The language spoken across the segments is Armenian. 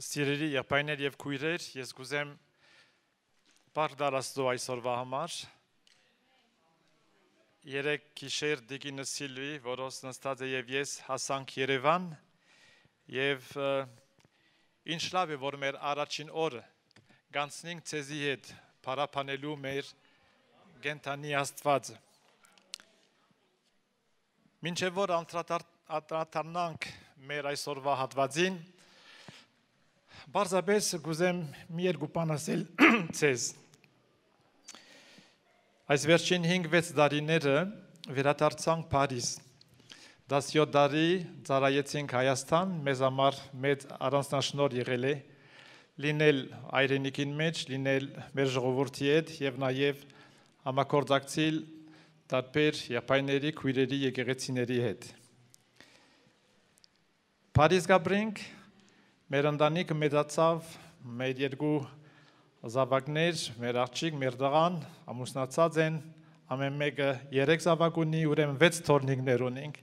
Սիրելի եղբայրներ եւ քույրեր, ես կուզեմ բարդալ Աստծո այսօրվա համար։ Երեք գիշեր Դիգինը Սիլվի, որոց նստած է եւ ես հասանք Երևան եւ ինչ լավ է, որ մեր առաջին օրը գանցնենք ցեզի հետ փառաբանելու մեր գենթանի Աստվածը։ Մինչեւ որ անդրադառնանք մեր այսօրվա հատվածին, Բարձաբես գուզեմ մի երկու բան ասել ցեզ։ Այս վերջին 5-6 տարիները վերադարձանք Փարիզ։ 17 տարի ծառայեցինք Հայաստան, մեզ համար մեծ առանձնաշնորհ եղել է լինել այրենիքին մեջ, լինել մեր ժողովրդի հետ եւ նաեւ համագործակցել տարբեր եղբայրների, քույրերի, եկեղեցիների հետ։ Փարիզ գաբրենք Մեր ընտանիքը մեծացավ, մեր երկու զավակներ, մեր աղջիկ, մեր տղան ամուսնացած են, ամեն մեկը 3 զավակ ունի, ուրեմն 6 թորնիկներ ունենք։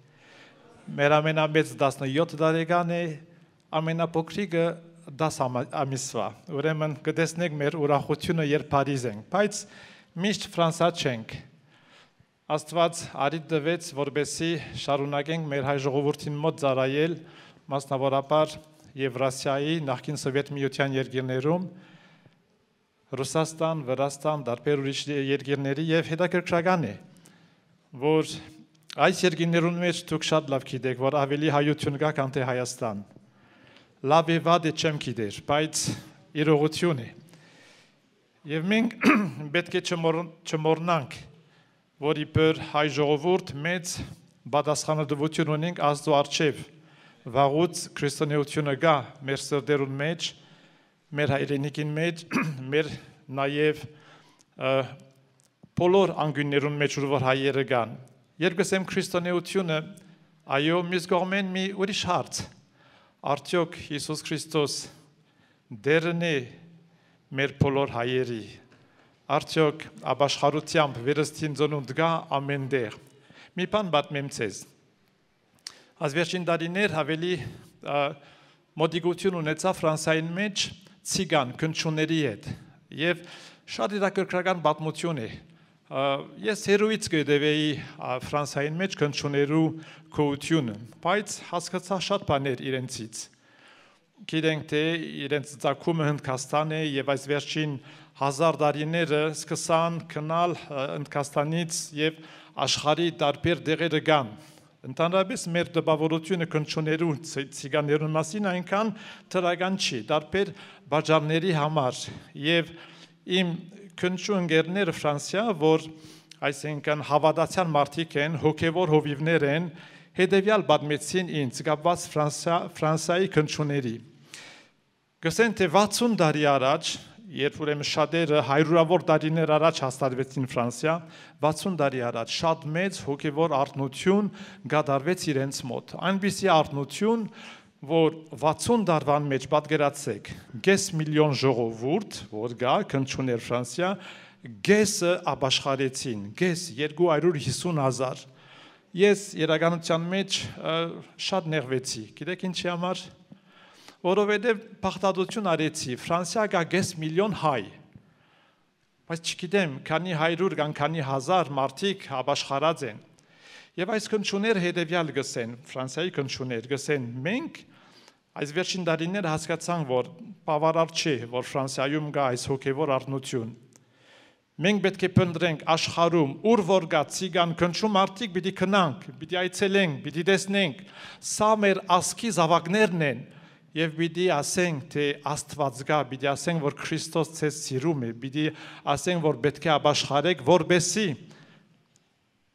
Մեր ամենամեծ 17 տարեկան է, ամենափոքրիկը 10 ամիսվա։ Ուրեմն կտեսնեք մեր ուրախությունը, երբ Փարիզ ենք, բայց միշտ Ֆրանսա չենք։ Աստված արիթ տվեց, որպեսզի շարունակենք մեր հայ ժողովրդին մոտ ծառայել, մասնավորապես Եվրասիայի նախկին Սովետ միության երկիրներում, Ռուսաստան, Վրաստան, տարբեր ուրիշ երկիրների եւ հետաքրքրական է, որ այս երկիրներում մեջ դուք շատ լավ գիտեք, որ ավելի հայություն կա, քան թե Հայաստան։ Լավ է վատ է չեմ գիտեր, բայց իրողություն է։ Եվ մենք պետք է չմոռնանք, որ իբր հայ ժողովուրդ մեծ պատասխանատվություն ունենք Աստծո առջև։ Վաղուց քրիստոնեությունը գա մեր սրտերուն մեջ, մեր հայրենիքին մեջ, մեր նաև բոլոր անկյուններուն մեջ, որ հայերը կան։ Երբ գսեմ քրիստոնեությունը, այո, մյուս կողմեն մի ուրիշ հարց։ Արդյոք Հիսուս Քրիստոս դերն է մեր բոլոր հայերի։ Արդյոք ապաշխարությամբ վերստին ծնունդ գա ամեն տեղ։ Մի բան պատմեմ ցեզ։ Այս վերջին տարիներ ավելի մոտիկություն ունեցավ Ֆրանսիայի մեջ ցիգան քնչուների հետ եւ շատ հետաքրքրական պատմություն է։ Ես հերույց կդեվեի Ֆրանսիայի մեջ քնչուներու գոյությունը, բայց հասկացա շատ բաներ իրենցից։ Գիտենք թե իրենց ցակումը Հնդկաստան է եւ այս վերջին 1000 տարիները սկսան գնալ Հնդկաստանից եւ աշխարհի տարբեր դեղերը կան։ Ընդհանրապես մեր տպավորությունը քնչուներու ցիգաներու մասին այնքան թրական չի, տարբեր բաժանների համար եւ իմ քնչու ընկերները Ֆրանսիա, որ այսինքն հավատացյալ մարդիկ են, հոգեվոր հովիվներ են, հետեւյալ պատմեցին ինձ կապված Ֆրանսիայի քնչուների։ Գսեն թե 60 տարի առաջ Երբ ուրեմն շատերը հայրուրավոր տարիներ առաջ հաստատվեցին Ֆրանսիա, 60 տարի առաջ շատ մեծ հոգևոր արթնություն գդարվեց իրենց մոտ։ Այնպիսի արթնություն, որ 60 տարվան մեջ պատկերացեք, 5 միլիոն ժողովուրդ, որ գա քնչուներ Ֆրանսիա, գեսը ապաշխարեցին, գես 250,000։ Ես իրականության մեջ շատ նեղվեցի։ Գիտեք ինչի համար։ Որովհետև փախտատություն արեցի, Ֆրանսիա կա 5 միլիոն հայ, բայց չգիտեմ, քանի 100 կամ քանի 1000 մարդիկ ապաշխարած են։ Եվ այս քնչուները հետևյալ գսեն, Ֆրանսիայի քնչուներ գսեն, մենք այս վերջին տարիները հասկացանք, որ բավարար չէ, որ Ֆրանսիայում կա այս հոգևոր արթնություն։ Մենք պետք է փնտրենք աշխարհում, ուր որ կա ցիգան քնչու մարդիկ, պիտի քնանք, պիտի այցելենք, պիտի տեսնենք, սա մեր ազգի զավակներն են։ Եվ պիտի ասենք, թե Աստված կա, պիտի ասենք, որ Քրիստոս ցեզ սիրում է, պիտի ասենք, որ պետք է ապաշխարեք, որբեսի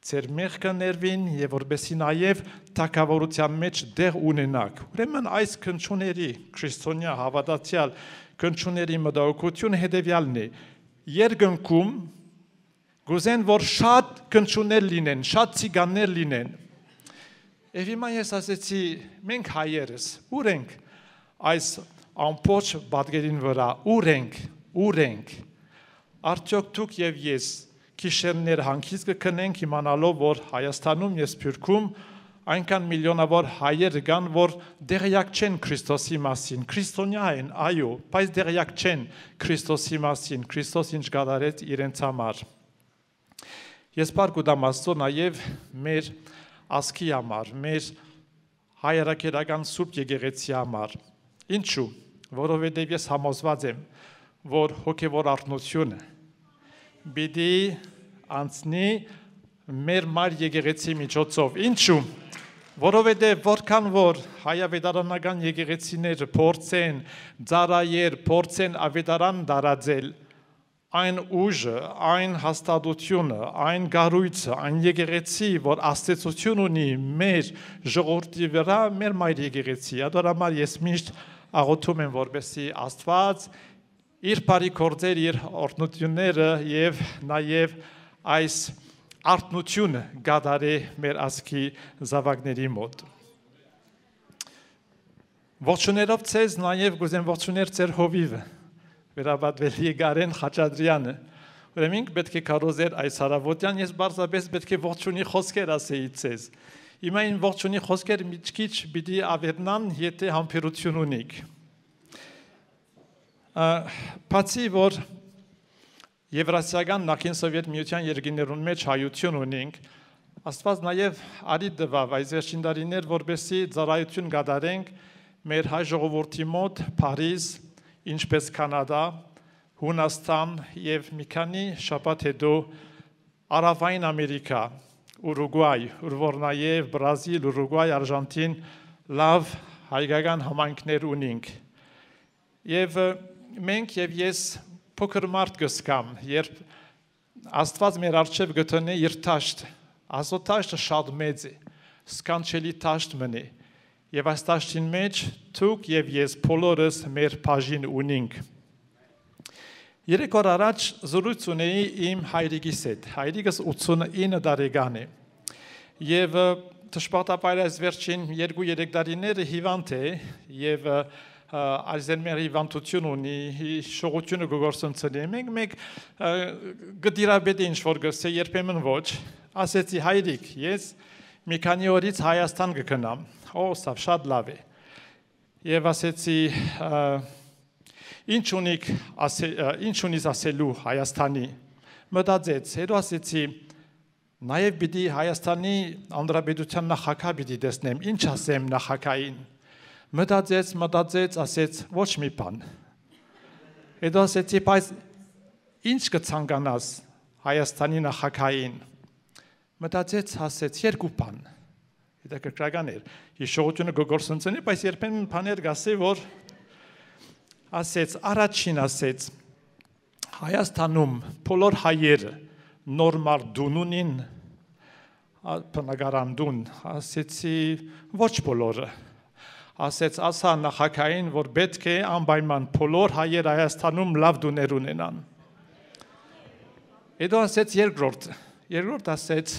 ձեր մեղքը ներվին եւ որբեսի նաեւ թագավորության մեջ դեղ ունենաք։ Ուրեմն այս քնչուների, քրիստոնյա հավատացյալ քնչուների մտահոգությունը հետեւյալն է. Երկնքում գուզեն, որ շատ քնչուներ լինեն, շատ ցիգաններ լինեն։ Եվ հիմա ես ասեցի, մենք հայերս, ուր ենք այս ամբողջ պատկերին վրա, ուր ենք, արդյոք դուք եւ ես գիշերներ հանգիստ կքնենք իմանալով, որ Հայաստանում եւ Սփյուռքում այնքան միլիոնավոր հայեր կան, որ դեղյակ չեն Քրիստոսի մասին, քրիստոնյա են, այո, բայց դեղյակ չեն Քրիստոսի մասին, Քրիստոս ինչ կատարեց իրենց համար։ Ես բարգուտամ Աստծո նաև մեր ազգի համար, մեր հայրաքերական Սուրբ Եկեղեցի համար։ Ինչու՞, որովհետև ես համոզված եմ, որ հոգևոր արթնությունը պիտի անցնի մեր մայր եկեղեցի միջոցով։ Ինչու՞, որովհետև որքան որ հայավետարանական եկեղեցիները փորձեն ծառայել, փորձեն ավետարան տարածել, այն ուժը, այն հաստատությունը, այն գառույցը, այն եկեղեցի, որ աստեցություն ունի մեր ժողովրդի վրա, մեր մայր եկեղեցի։ Ադորամար ես միշտ աղոթում եմ, որպեսզի Աստված իր բարի գործեր, իր օրհնությունները եւ նաեւ այս արթնությունը կատարի մեր ազգի զավակների մոտ։ Ողջուներով ցեզ նաեւ գուզեմ ողջուներ ձեր հովիվը, վերաբադվել Եղարեն Խաչատրյանը։ Ուրեմն պետք է կարոզեր այս հարավոտյան, ես բարձրապես պետք է ողջունի խոսքեր ասեի ցեզ։ Հիմա այն ողջունի խոսքեր մի քիչ պիտի ավերնան, եթե համբերություն ունիք։ Բացի որ Եվրասիական նախին սովետ միության երկրներուն մեջ հայություն ունենք, Աստված նաև արի տվավ այս վերջին տարիներ, որպեսզի ծառայություն կատարենք մեր հայ ժողովրդի մոտ Փարիզ, ինչպես Կանադա, Հունաստան եւ մի քանի շաբաթ հետո Արավային Ամերիկա, Ուրուգվայ, որ նաև Բրազիլ, Ուրուգվայ, Արժանտին լավ հայկական համայնքներ ունենք։ Եվ մենք եւ ես փոքր մարդ կսկամ, երբ Աստված մեր արժեվ գտնի իր տաշտ, Աստծո տաշտը շատ մեծ է, սքանչելի տաշտ մնի, եւ այս տաշտին մեջ դուք եւ ես բոլորս մեր բաժին ունենք։ Երեք օր առաջ զրույց ունեի իմ հայրիկիս հետ, հայրիկս 89 տարեկան է, եւ դժբախտաբար այս վերջին 2-3 տարիները հիվանդ է եւ Ալզհեյմեր հիվանդություն ունի, շողությունը գործընծնի, մենք գդիրաբեդի ինչ-որ գսե երբեմն ոչ, ասեցի հայրիկ, ես մի քանի օրից Հայաստան կգնամ, սա շատ լավ է, և ասեցի, ինչ ունիս ասելու Հայաստանի, մտածեց, հետո ասեցի, նաև պիտի Հայաստանի Հանրապետության նախագահ պիտի տեսնեմ, ինչ ասեմ նախագահին, մտածեց, ասեց, ոչ մի բան։ Հետո ասեցի, բայց ինչ կցանկանաս Հայաստանի նախագահին։ Մտածեց, ասեց, երկու բան։ Հետաքրքրական էր։ Հիշողությունը գործընծնի, բայց երբեմն բաներ գասի, որ ասեց, առաջին ասեց, Հայաստանում բոլոր հայերը նորմալ դուն ունին, բնակարան դուն, ասեցի, ոչ բոլորը։ Ասեց ասա նախագահին, որ պետք է անպայման բոլոր հայեր Հայաստանում լավ դուներ ունենան։ Հետո ասեց երկրորդ ասեց,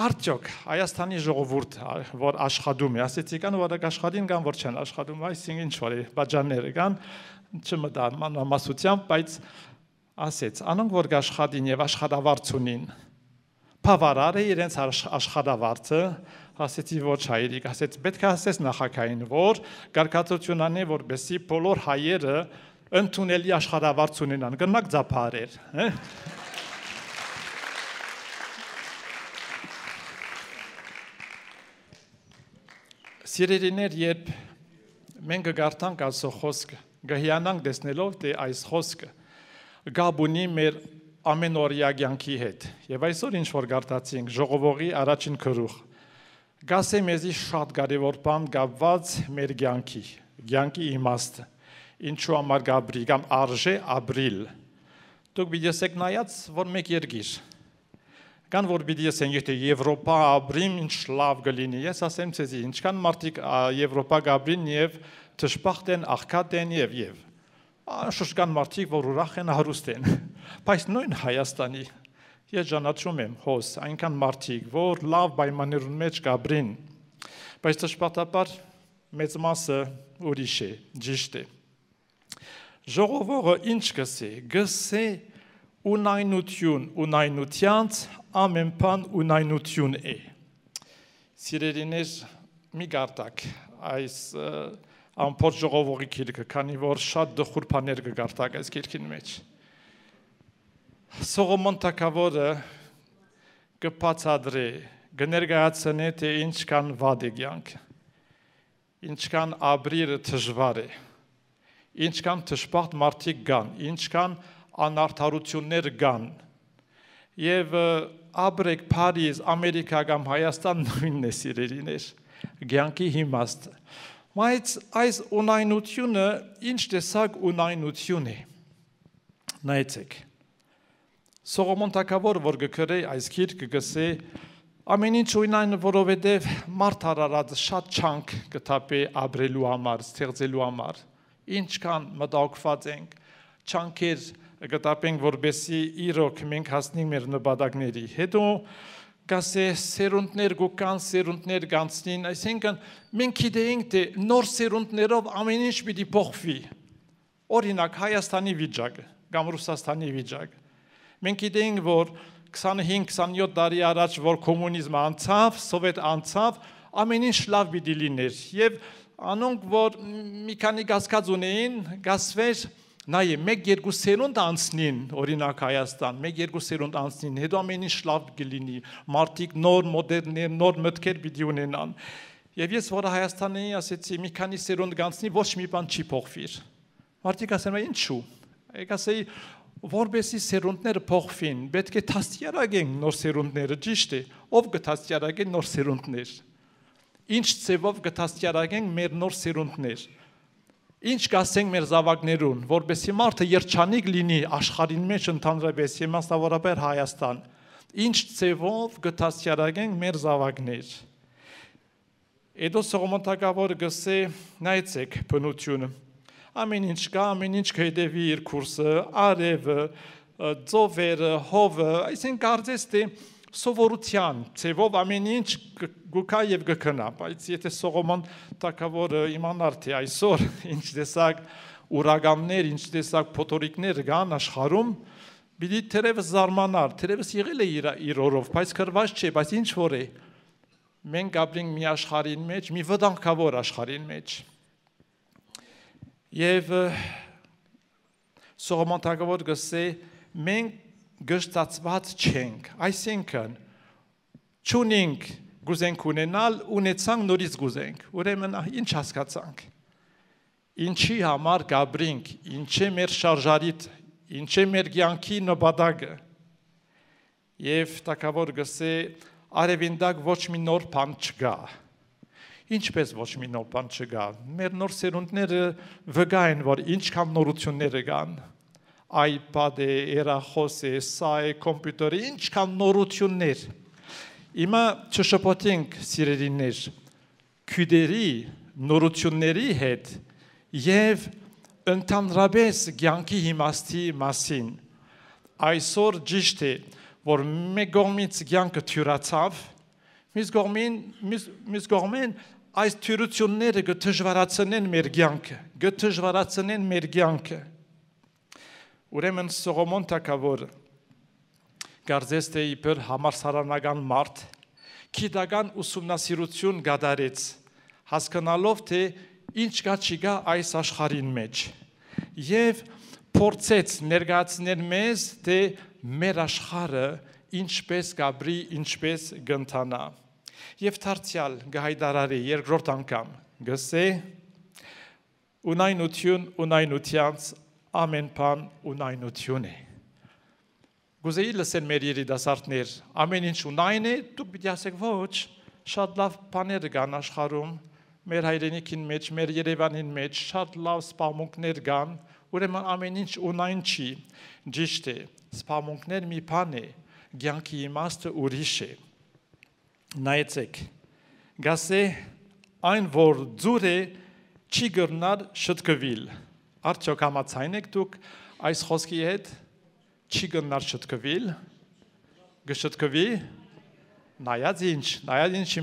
արդյոք Հայաստանի ժողովուրդ, որ աշխատում է, ասեցի կան, որ աշխատին կան, որ չեն աշխատում, այսինքն ինչ որ է, բաժանները կան, չմտան մանրամասությամբ, բայց ասեց, անոնք որ աշխատին եւ աշխատավարձ ունին, բավարար է իրենց աշխատավարձը, ասեցի ոչ հայրիկ, ասեց պետք է ասես նախագահին, որ կարգացություն անի, որպեսզի բոլոր հայերը ընդունելի աշխատավարձ ունենան, գնաք ձապարեր։ Սիրելիներ, երբ մենք կգարտանք Աստծո խոսքը, կհիանանք տեսնելով, թե այս խոսքը գաբ ունի մեր ամենօրյա կյանքի հետ։ Եվ այսօր ինչ որ գարտացինք ժողովողի առաջին քրուխ, գասե մեզի շատ կարևոր բան կապված մեր կյանքի իմաստը, ինչու համար գաբրի կամ արժե ապրիլ։ Դուք պիտի եսեք նայած, որ մեկ երկիր, կան որ պիտի եսեն, եթե Եվրոպա ապրիմ, ինչ լավ կլինի, ես ասեմ ցեզի, ինչքան մարդիկ Եվրոպա կապրին եւ դժբախտ են, աղքատ են եւ շուշկան մարդիկ, որ ուրախ են, հարուստ են, բայց նույն Հայաստանի, ես ճանաչում եմ հոս, այնքան մարդիկ, որ լավ պայմաններուն մեջ կապրին, բայց դժբախտաբար մեծ մասը ուրիշ է, ճիշտ է։ Ժողովողը ինչ գսե ունայնություն ունայնությանց ամեն բան ունայնություն է։ Սիրելիներ, մի գարտակ այս ամփոփ ժողովողի գիրքը, քանի որ շատ դխուր բաներ կգարտակ այս գիրքին մեջ։ Սողոմոն թագավորը կբացատրի, կներկայացնի, թե ինչքան վատ է կյանքը, ինչքան ապրիլը դժվար է, ինչքան դժբախտ մարդիկ կան, ինչքան անարդարություններ կան, եւ ապրեք Փարիզ, Ամերիկա կամ Հայաստան նույնն է սիրելիներ, կյանքի իմաստը։ Բայց այս ունայնությունը ինչ տեսակ ունայնություն է։ Նայեցեք։ Սողոմոն թագավորը, որ գկրե այս գիրքը գսե ամեն ինչ ունայն, որովհետև մարդ արարած շատ չանք կտապե ապրելու համար, ստեղծելու համար, ինչքան մտահոգված ենք, չանքեր կտապենք, որբեսի իրոք մենք հասնենք մեր նպատակների։ Հետո գասե սերունդներ գուկան, սերունդներ գանցնին, այսինքն մենք գիտենք, թե նոր սերունդներով ամեն ինչ պիտի փոխվի։ Օրինակ Հայաստանի վիճակը կամ Ռուսաստանի վիճակը։ Մենք գիտենք, որ 25-27 տարի առաջ, որ կոմունիզմը անցավ, սովետ անցավ, ամեն ինչ լավ պիտի լիներ։ Եվ անոնք, որ մի քանի գասկած ունեին, գասվեր, նայե, 1-2 սերունդ անցնին, օրինակ Հայաստան, 1-2 սերունդ անցնին, հետո ամեն ինչ լավ կլինի, մարդիկ նոր մոդելներ, նոր մտքեր պիտի ունենան։ Եվ ես, որ Հայաստանն էի, ասեցի, մի քանի սերունդ գանցնի, ոչ մի բան չի փոխվիր։ Մարդիկ ասում են, ինչու։ Եք ասեի, որբեսի սերունդները փոխվին, պետք է դաստիարակենք նոր սերունդները, ճիշտ է, ով կդաստիարակեն նոր սերունդներ։ Ինչ ձևով կդաստիարակենք մեր նոր սերունդներ։ Ինչ կասենք մեր զավակներուն, որբեսի մարդը երջանիկ լինի աշխարհին մեջ ընդհանրապես, իմաստավորաբար Հայաստան։ Ինչ ձևով կդաստիարակենք մեր զավակներ։ Հետո Սողոմոն թագավորը գսե, նայեցեք բնությունը։ Ամեն ինչ կա, ամեն ինչ կհետևի իր կուրսը, արևը, ծովերը, հովը, այսինքն կարծես թե սովորության ձևով ամեն ինչ գուկա եւ գքնա, բայց եթե Սողոմոն թագավորը իմանար թե այսօր ինչ տեսակ ուրագաններ, ինչ տեսակ փոթորիկներ կան աշխարհում, պիտի թերևս զարմանար, թերևս եղել է իր օրով, բայց քրված չէ, բայց ինչ որ է։ Մենք ապրենք մի աշխարհին մեջ, մի վտանգավոր աշխարհին մեջ։ Եվ Սողոմոն թագավորը գսե մենք գշտացված չենք, այսինքն չունենք գուզենք ունենալ, ունեցանք նորից գուզենք, ուրեմն ինչ հասկացանք, ինչի համար գաբրինք, ինչ է մեր շարժարիտ, ինչ է մեր կյանքի նպատակը։ Եվ թագավորը գսե արևինդակ ոչ մի նոր բան չկա։ Ինչպես ոչ մի նոր բան չկա, մեր նոր սերունդները վկա են, որ ինչքան նորություններ կան, iPad է, երախոս է, սա է, կոմպյուտեր է, ինչքան նորություններ։ Հիմա չշփոթենք սիրելիներ, քույրերի նորությունների հետ եւ ընդհանրապես կյանքի իմաստի մասին։ Այսօր ճիշտ է, որ մեկ կողմից կյանքը թյուրացավ, մյուս կողմեն այս թյուրությունները կդժվարացնեն մեր կյանքը, կդժվարացնեն մեր կյանքը։ Ուրեմն Սողոմոն թագավորը կարծես թե իբր համալսարանական մարդ գիտական ուսումնասիրություն կատարեց, հասկանալով թե ինչ կա չի կա այս աշխարհին մեջ, եւ փորձեց ներկայացնել մեզ, թե մեր աշխարհը ինչպես կապրի, ինչպես կընթանա։ Եվ դարձյալ գահայդարարի երկրորդ անգամ գսե ունայնություն ունայնությանց ամեն բան ունայնություն է։ Գուզեի լսեն մեր երիտասարդներ, ամեն ինչ ունայն է, դուք պիտի ասեք ոչ, շատ լավ բաներ կան աշխարհում, մեր հայրենիքին մեջ, մեր Երևանին մեջ շատ լավ սպամունքներ կան, ուրեմն ամեն ինչ ունայն չի, ճիշտ է, սպամունքներ մի բան է, կյանքի իմաստը ուրիշ է։ Նայեցեք, գասե այն որ ձուր է չի գրնար շտկվել։ Արդյոք համաձայն եք դուք այս խոսքի հետ չի գրնար շտկվել, գշտկվի, նայած ինչ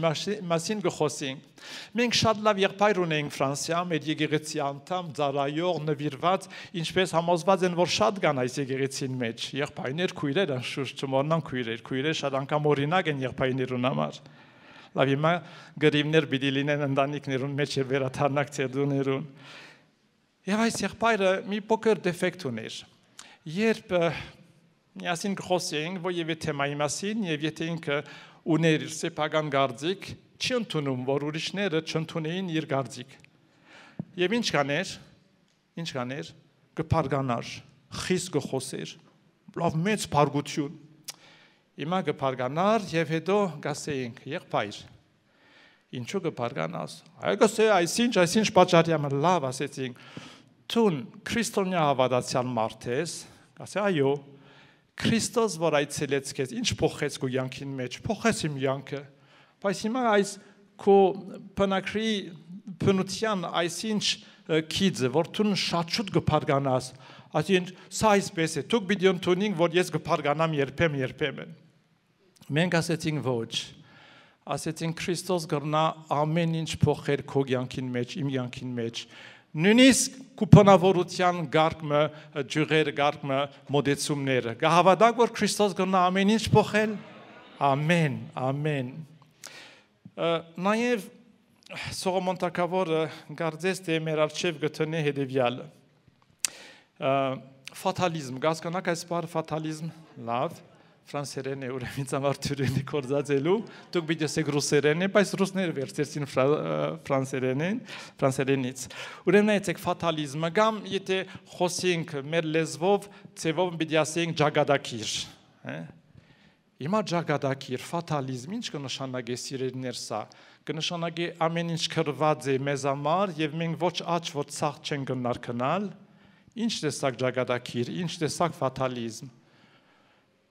մասին գխոսենք։ Մենք շատ լավ եղբայր ունենք Ֆրանսիայում, այդ եկեղեցի անդամ, ծառայող, նվիրված, ինչպես համոզված են, որ շատ կան այս եկեղեցին մեջ, եղբայրներ, քույրեր, անշուշտ չմոռնան քույրեր շատ անգամ օրինակ են եղբայրներուն համար։ Լավ, հիմա գրիվներ պիտի լինեն ընտանիքներուն մեջ եւ վերաթարնակ ցերդուներուն։ Եվ այս եղբայրը մի փոքր դեֆեկտ ուներ։ Երբ միասին գխոսենք, որ եւ թեմայի մասին եւ եթե ինքը ուներ իր սեփական գարձիկ, չի ընդունում, որ ուրիշները չընդունեին իր գարձիկ։ Եվ ինչ կաներ, կփարգանար, խիստ գխոսեր, լավ մեծ փարգություն։ Հիմա կփարգանար եւ հետո գասեինք, եղբայր, ինչու կփարգանաս։ Այգասե այսինչ պատճառյամ լավ ասեցինք, տուն քրիստոնյա հավատացյալ մարդ ես, ասե այո, Քրիստոս որ այցելեց քեզ, ինչ փոխեց քո յանքին մեջ, փոխեց իմ յանքը, բայց հիմա այս քո բնակրի բնության այսինչ քիծը, որ դու շատ կփարգանաս, ասին սա այսպես է, դուք պիտի ընդունենք, որ ես կփարգանամ երբեմն։ Մենք ասեցինք ոչ, ասեցինք Քրիստոս կրնա ամեն ինչ փոխեր քո յանքին մեջ, իմ յանքին մեջ, նույնիսկ կուպանավորության գարկմը, ջուղերը գարկմը, մոդեցումները, կհավատակ, որ Քրիստոս կրնա ամեն ինչ փոխել, ամեն, նաև Սողոմոն թագավորը կարծես թե մեր առջև գտնի հետևյալը, ֆատալիզմ, կասկանաք այս բառը ֆատալիզմ, լավ, ֆրանսերեն է, ուրեմն համար թյուրենի կորձածելու, դուք պիտի ասեք ռուսերեն է, բայց ռուսները վերցրեցին ֆրանսերենից։ Ուրեմն այցեք ֆատալիզմը, կամ եթե խոսենք մեր լեզվով, ծևով պիտի ասենք ջագադակիր։ Հիմա ջագադակիր, ֆատալիզմ, ինչ կնշանակի սիրելիներ սա, կնշանակի ամեն ինչ կրված է մեզ համար եւ մենք ոչ աճ, ոչ ցախ չենք գնար կնալ, ինչ տեսակ ջագադակիր, ինչ տեսակ ֆատալիզմ։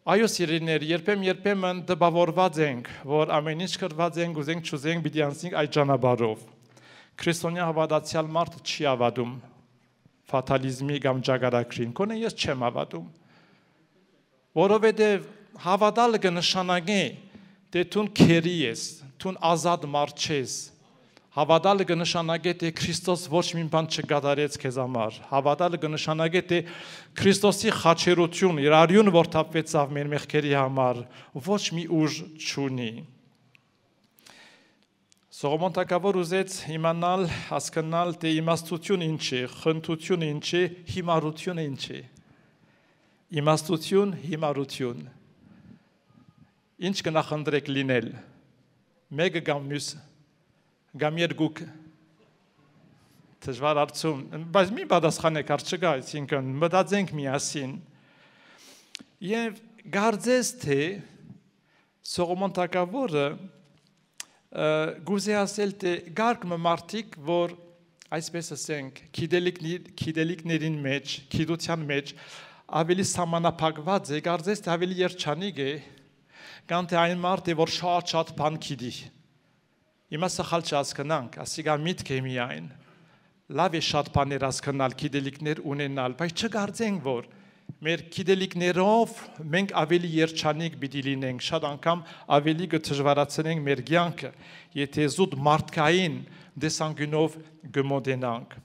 Այո սիրելիներ, երբեմն դպավորված ենք, որ ամեն ինչ կրված ենք, ուզենք չուզենք, պիտի անցնենք այդ ճանապարհով։ Քրիստոնյա հավատացյալ մարդը չի հավատում ֆատալիզմի կամ ջագադակրին, կոնե ես չեմ հավատում։ Որովհետև հավատալը կնշանակի, թե դու քերի ես, դու ազատ մարդ չես։ Հավատալը կնշանակի, թե Քրիստոս ոչ մի բան չկատարեց քեզ համար։ Հավատալը կնշանակի, թե Քրիստոսի խաչերություն, իր արյունը որ թափվեցավ մեր մեղքերի համար, ոչ մի ուժ չունի։ Սողոմոն թագավոր ուզեց իմանալ, հասկանալ, թե իմաստություն ինչ է, խնդություն ինչ է, հիմարություն ինչ է։ Իմաստություն, հիմարություն։ Ինչ կնախընտրեք լինել։ Մեկը կամ մյուսը։ Կամ երկուք դժվար հարցում, բայց մի պատասխանեք հարց չկա, այսինքն մտածենք միասին։ Եվ կարծես թե Սողոմոն թագավորը գուզե ասել թե գարկ մարդիկ, որ այսպես ասենք, գիտելիքներին մեջ, գիտության մեջ ավելի սահմանափակված է, կարծես թե ավելի երջանիկ է, կամ թե այն մարդը, որ շատ բան գիտի։ Հիմա սխալ չհասկանանք, ասիկա միտք է միայն, լավ է շատ բաներ հասկանալ, գիտելիքներ ունենալ, բայց չկարծենք, որ մեր գիտելիքներով մենք ավելի երջանիկ պիտի լինենք, շատ անգամ ավելի կդժվարացնենք մեր կյանքը, եթե զուտ մարդկային տեսանկյունով կմոտենանք։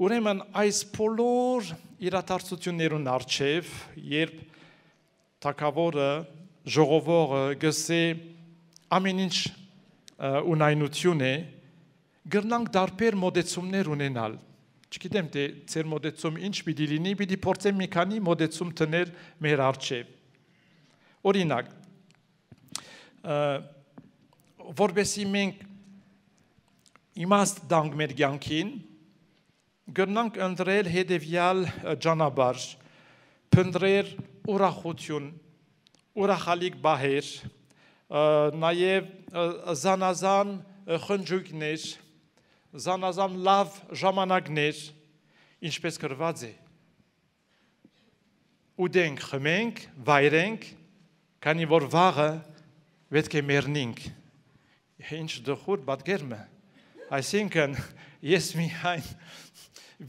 Ուրեմն այս բոլոր իրադարձություններուն առջև, երբ թագավորը, ժողովուրդը գսե ամեն ինչ ունայնություն է, գրնանք դարբեր մոդեցումներ ունենալ։ Չգիտեմ, թե ձեր մոդեցում ինչ պիտի լինի, պիտի փորձեմ մի քանի մոդեցում տնել մեր առջև։ Օրինակ, որպեսզի մենք իմաստ տանք մեր կյանքին, գրնանք ընտրել հետևյալ ճանապարհ, փնտրել ուրախություն, ուրախալիք բահեր, նաև զանազան խնջույքներ, զանազան լավ ժամանակներ, ինչպես գրված է։ Ուտենք, խմենք, վայրենք, քանի որ վաղը պետք է մեռնենք։ Ինչ դխուր պատկերմը։ Այսինքն ես միայն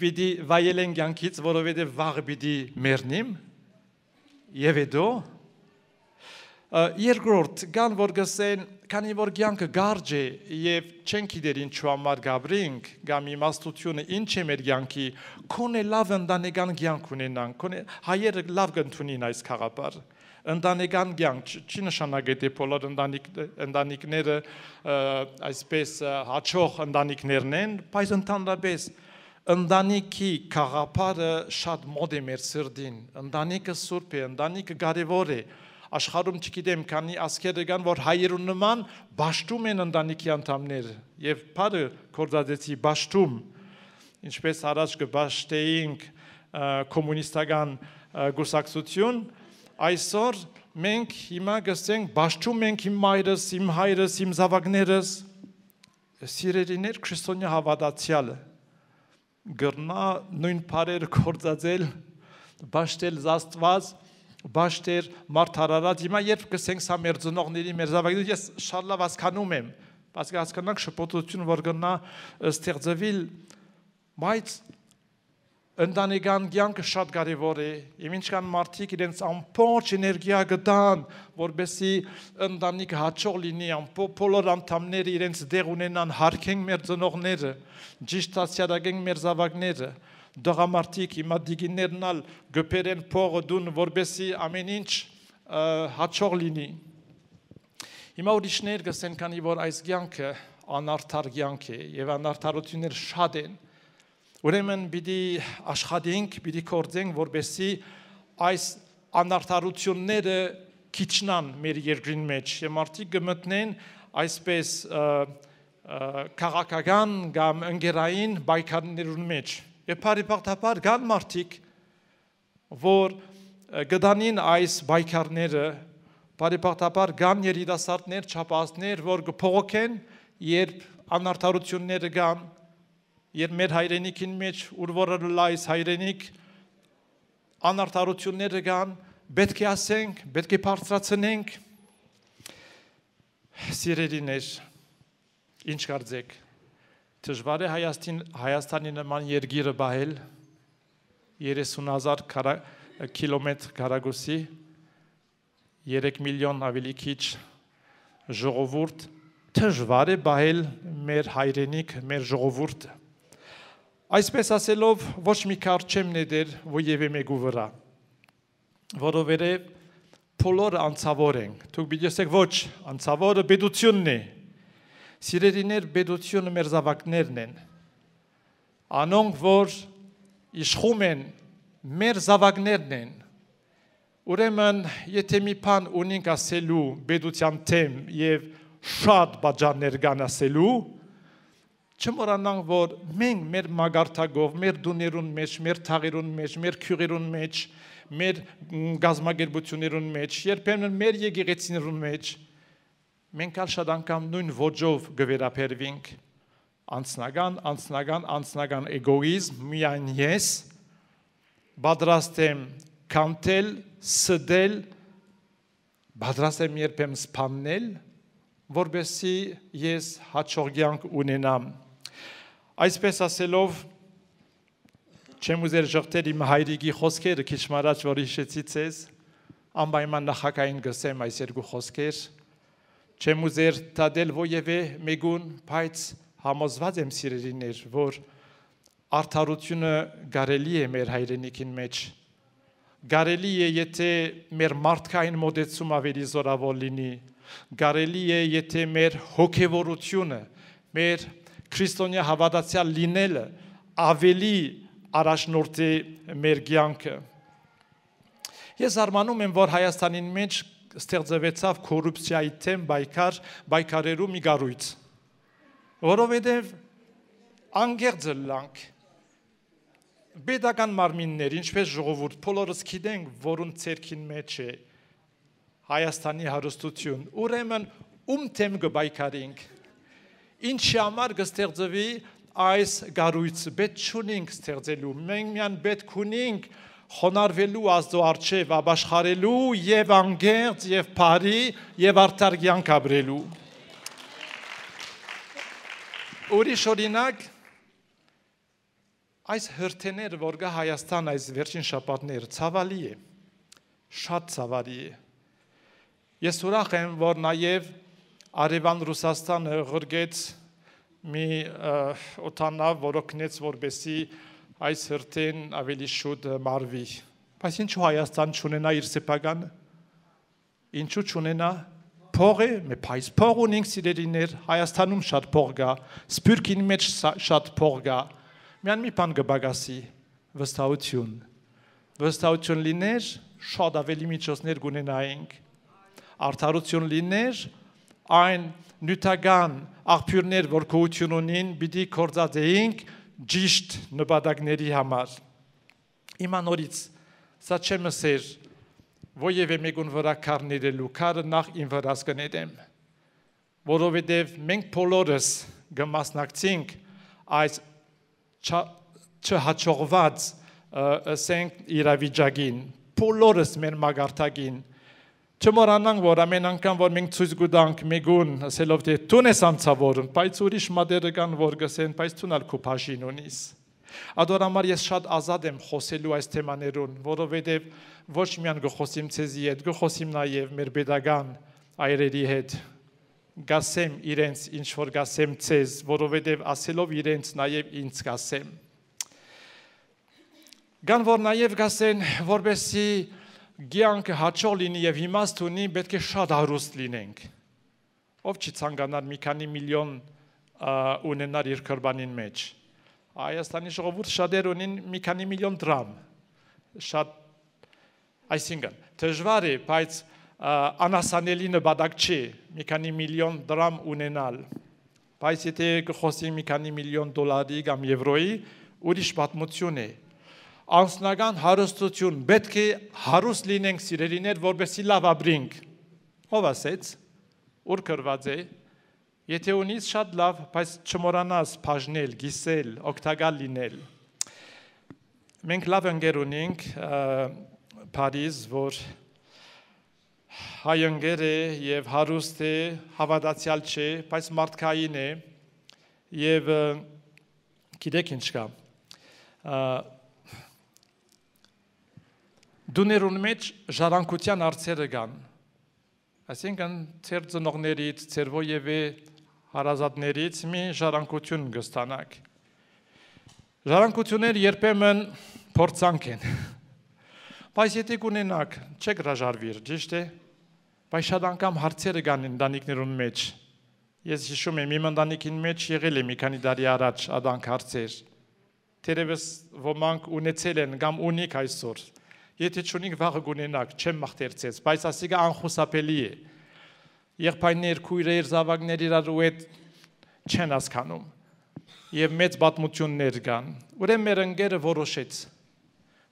պիտի վայելենք կյանքից, որովհետև վաղը պիտի մեռնեմ, եւ հետո Երկրորդ, կան որ գսեն, քանի որ կյանքը գարջ է եւ չենք գիտեր ինչու համար գաբրինք, կամ իմաստությունը ինչ է մեր կյանքի, քոնե լավ ընտանեկան կյանք ունենանք, քոնե հայերը լավ կընդունին այս խաղապար։ Ընտանեկան կյանք չի նշանակի թե բոլոր ընտանիքները այսպես հաճող ընտանիքներն են, բայց ընդհանրապես ընտանիքի խաղապարը շատ մոտ է մեր սրտին, ընտանիքը սուրբ է, ընտանիքը կարևոր է, աշխարհում չգիտեմ քանի ազգեր կան, որ հայերուն նման բաշտում են ընտանիքի անդամները եւ բարը կորզածի բաշտում, ինչպես առաջ կբաշտեինք կոմունիստական գուսակցություն, այսօր մենք հիմա գսենք բաշտում ենք իմ մայրս, իմ հայրս, իմ զավակներս, սիրելիներ քրիստոնյա հավատացյալը գրնա նույն բարերը կորզածել, բաշտել Աստված, բաշտեր մարդարարած, հիմա երբ գսենք սա մեր ծնողների, մեր զավակների, ես շատ լավ հասկանում եմ, բայց հասկանանք շփոթություն, որ գնա ստեղծվել, բայց ընտանեկան կյանքը շատ կարևոր է, եւ ինչքան մարդիկ իրենց ամբողջ էներգիա գտան, որբեսի ընտանիքը հաջող լինի, բոլոր անդամները իրենց դեղ ունենան, հարգենք մեր ծնողները, ճիշտ հասարակենք մեր զավակները, դղամարտիկ հիմա դիգիներն ալ գպերեն փողը դուն, որբեսի ամեն ինչ հաջող լինի։ Հիմա ուրիշներ գսեն, քանի որ այս կյանքը անարդար կյանք է եւ անարդարություններ շատ են, ուրեմն պիտի աշխատենք, պիտի կործենք, որբեսի այս անարդարությունները քիչնան մեր երկրին մեջ եւ մարդիկ կմտնեն այսպես քաղաքական կամ ընկերային պայքարներուն մեջ։ Եվ բարիբախտաբար կան մարդիկ, որ գտանին այս պայքարները, բարիբախտաբար կան երիտասարդներ, չափածներ, որ կփողոքեն, երբ անարդարությունները կան, երբ մեր հայրենիքին մեջ, ուր որ լայս հայրենիք, անարդարությունները կան, պետք է ասենք, պետք է բարձրացնենք, սիրելիներ, ինչ կարծեք, դժվար է Հայաստանի նման երկիրը բահել 30,000 կիլոմետր քառակուսի 3 միլիոն ավելի քիչ ժողովուրդ դժվար է բահել մեր հայրենիք, մեր ժողովուրդը։ Այսպես ասելով ոչ մի քարտ չեմ ներ ովև մեկու վրա, որովհետև բոլորը անցավոր են։ Դուք պիտի ասեք ոչ, անցավորը պետությունն է։ Սիրելիներ, պետությունը մեր զավակներն են, անոնք, որ իշխում են, մեր զավակներն են, ուրեմն, եթե մի բան ունենք ասելու պետության թեմ և շատ բաժաններ կան ասելու, չմոռանանք, որ մենք մեր մագարտակով, մեր դուներուն մեջ, մեր թաղերուն մեջ, մեր քյուրերուն մեջ, մեր գազམ་ագերբություններուն մեջ, երբեմն մեր եկեղեցիներուն մեջ, մենք շատ անգամ նույն ոճով գվերապերվենք, անձնական էգոիզմ, միայն ես, պատրաստ եմ կանտել, սդել, պատրաստ եմ երբեմն սպաննել, որբեսի ես հաջող կյանք ունենամ։ Այսպես ասելով, չեմ ուզեր ժողտել իմ հայրիկի խոսքերը, քիչ առաջ որ հիշեցի ձեզ, անպայման նախագահին գսեմ այս երկու խոսքեր, չեմ ուզեր տադել ովևէ մեկուն, բայց համոզված եմ սիրելիներ, որ արդարությունը կարելի է մեր հայրենիքին մեջ, կարելի է եթե մեր մարդկային մոտեցում ավելի զորավոր լինի, կարելի է եթե մեր հոգևորությունը, մեր քրիստոնյա հավատացյալ լինելը ավելի առաջնորդի մեր կյանքը։ Ես զարմանում եմ, որ Հայաստանին մեջ ստեղծվեցավ կոռուպցիայի թեմ պայքարելու մի կառույց, որովհետև անկեղծ լանք պետական մարմիններ, ինչպես ժողովուրդ, բոլորս գիտենք, որուն ցերքին մեջ է Հայաստանի հարստություն, ուրեմն ում թեմ կպայքարենք, ինչի համար կստեղծվի այս կառույցը, պետք չունենք ստեղծելու, մենք միայն պետք ունենք խոնարհվելու Աստծո առջև, ապաշխարելու եւ անկեղծ եւ բարի եւ արդար կյանք ապրելու։ Ուրիշ օրինակ, այս հրթիռները, որ կա Հայաստան այս վերջին շաբաթները, ցավալի է, շատ ցավալի է։ Ես ուրախ եմ, որ նաև Արևան Ռուսաստանը ղրգեց մի օտանավ, որ օգնեց, որպեսզի այս հրթեն ավելի շուտ մարվի։ Բայց ինչու Հայաստան չունենա իր սեփականը։ Ինչու չունենա փողը, մեծ փող ունենք սիրելիներ, Հայաստանում շատ փող կա, Սփյուռքին մեջ շատ փող կա։ Միան մի բան կբագասի, վստահություն։ Վստահություն լիներ, շատ ավելի միջոցներ կունենայինք։ Արդարություն լիներ, այն նյութական աղբյուրներ, որ գոյություն ունին, պիտի կործածեինք ճիշտ նպատակների համար։ Հիմա նորից սա չեմ ասեր, որևէ մեկուն վրա քարներելու, քարը նախ իմ վրաս կնետեմ, որովհետև մենք բոլորս կմասնակցենք այս չհաջողված ասենք իրավիճակին, բոլորս մեր մագարտակին, չմոռանանք, որ ամեն անգամ, որ մենք ցույց կտանք մեկուն, ասելով թե դու ես անցավորում, բայց ուրիշ մատերը կան, որ գսեն, բայց դու ալ քո բաժին ունիս։ Ադոր համար ես շատ ազատ եմ խոսելու այս թեմաներուն, որովհետև ոչ միայն գխոսիմ ցեզի հետ, գխոսիմ նաև մեր pedagogan այրերի հետ, գասեմ իրենց ինչ որ գասեմ ցեզ, որովհետև ասելով իրենց նաև ինձ գասեմ։ Գան որ նաև գասեն, որպեսզի գյանքը հաջող լինի եւ իմաստ ունի, պետք է շատ հարուստ լինենք։ Ով չի ցանկանար մի քանի միլիոն ունենալ իր կրբանին մեջ։ Հայաստանի ժողովուրդը շատեր ունին մի քանի միլիոն դրամ։ Շատ այսինքն դժվար է, բայց անասանելի նպատակ չի մի քանի միլիոն դրամ ունենալ։ Բայց եթե կխոսի մի քանի միլիոն դոլարի կամ եվրոյի, ուրիշ պատմություն է։ Անձնական հարստություն, պետք է հարուստ լինենք սիրելիներ, որպեսզի լավ ապրենք։ Ով ասեց, ուր կրված է, եթե ունիս շատ լավ, բայց չմոռանաս բաժնել, գիսել, օգտակար լինել։ Մենք լավ ընկեր ունենք Փարիզ, որ հայ ընկեր է եւ հարուստ է, հավատացյալ չէ, բայց մարդկային է եւ գիտեք ինչ կա։ Դուներուն մեջ ժառանգության արծերը կան, այսինքն ծեր ծնողներից, ծեր ովևէ հարազատներից մի ժառանգություն կստանաք։ Ժառանգությունները երբեմն փորձանք են, բայց եթե կունենաք, չեք հրաժարվիր, ճիշտ է, բայց շատ անգամ հարցերը կան ընտանիքներուն մեջ։ Ես հիշում եմ, իմ ընտանիքին մեջ եղել է մի քանի տարի առաջ ադանք հարցեր, թերևս ոմանք ունեցել են կամ ունիք այսօր։ Եթե չունիք վաղը կունենաք, չեմ մաղթերցեց, բայց ասիկա անխուսափելի է։ Եղբայրներ, քույրեր, զավակներ իրար ու հետ չեն հասկանում։ Եվ մեծ պատմություններ կան։ Ուրեմն մեր ընկերը